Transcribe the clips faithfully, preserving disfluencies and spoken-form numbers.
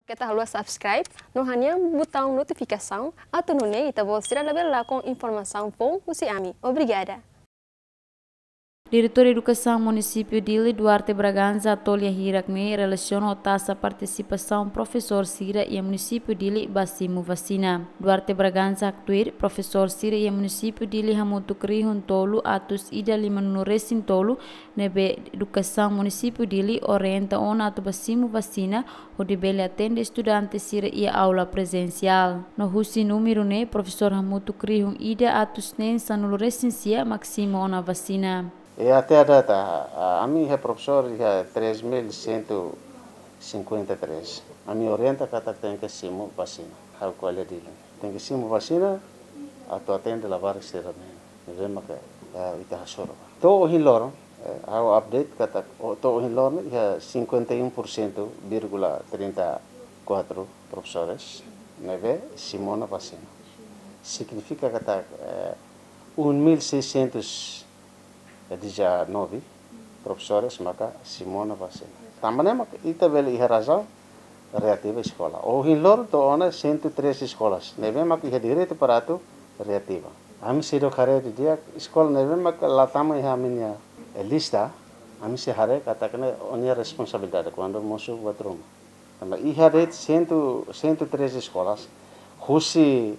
Keta haluha subscribe no hanehan butaun notifikasaun, atu nune'e ita-boot sira labele lakon informasaun foun husi ami. Obrigada. Diretór Edukasaun Munisípiu Dili, Duarte Bragança, hato'o lia hirak ne'e relasiona ho taxa partisipasaun profesór sira iha Munisípiu Dili ba simu vasina. Duarte Bragança haktuir, profesór sira iha Munisípiu Dili hamutuk rihun tolu atus ida lima-nulu resin tolu, ne'ebé Edukasaun Munisípiu Dili orienta ona atu ba simu vasina, hodi bele atende estudante sira iha aula prezensiál. No husi númeru ne'e, profesór hamutuk rihun ida atus neen sanulu resin sia mak simu ona vasina. E até a data, a, ami iha profesór iha três mil cento e cinquenta e três. Ami orienta katak tenke simu vasina. Ha'u ko'alia Dili. Tenke simu vasina atu atende labarik sira-ne'e. Ne'ebé maka, eh, ita hasoru. To'o ohin loron, eh, ha'u update katak, o, to'o ohin loron iha cinquenta e um por cento vírgula trinta e quatro profesores ne'ebé simu ona vasina. Signifika katak, eh, um mil seiscentos e dezanove profesores maka simu ona vasina. Tanba ne'e maka ita bele iha razaun reativa eskola. Ohin loron to'o ona cento e treze eskolas ne'ebé maka iha direitu para atu reativa. Ami seidauk haree didi'ak eskola ne'ebé maka la tama iha ami-nia, eh, lista, ami sei haree katak ne'e ó-nia responsabilidade kuandu mosu buat ruma. Tanba iha de'it cento, cento e treze eskolas, husi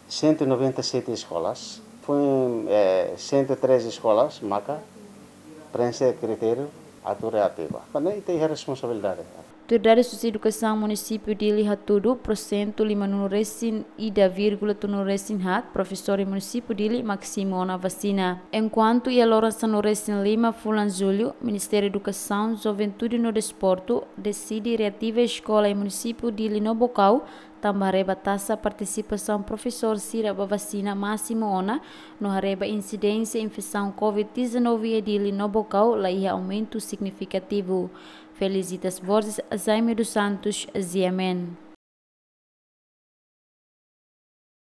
cento e noventa e sete eskolas, foin, eh, cento e treze eskolas maka preenxe kritériu atu reativa. Tanba ne'e ita iha responsabilidade. Tuir dadus husi Edukasaun Munisípiu Dili hatudu, porsentu lima-nulu resin ida vírgula tolunulu resin haat profesór iha Munisípiu Dili mak simu ona vasina. Enkuantu iha loron sanulu resin lima fulan Jullu, Ministériu Edukasaun, Juventude no Desportu deside reativa eskola iha Munisípiu Dili no Baucau, tanba haree ba taxa partisipasaun profesór sira ba vasina másimu ona, no haree ba insidénsia infesaun covid dezanove iha Dili no Baucau la iha aumentu signifikativu. Felicitas Borges, Jaime dos Santos, G M N.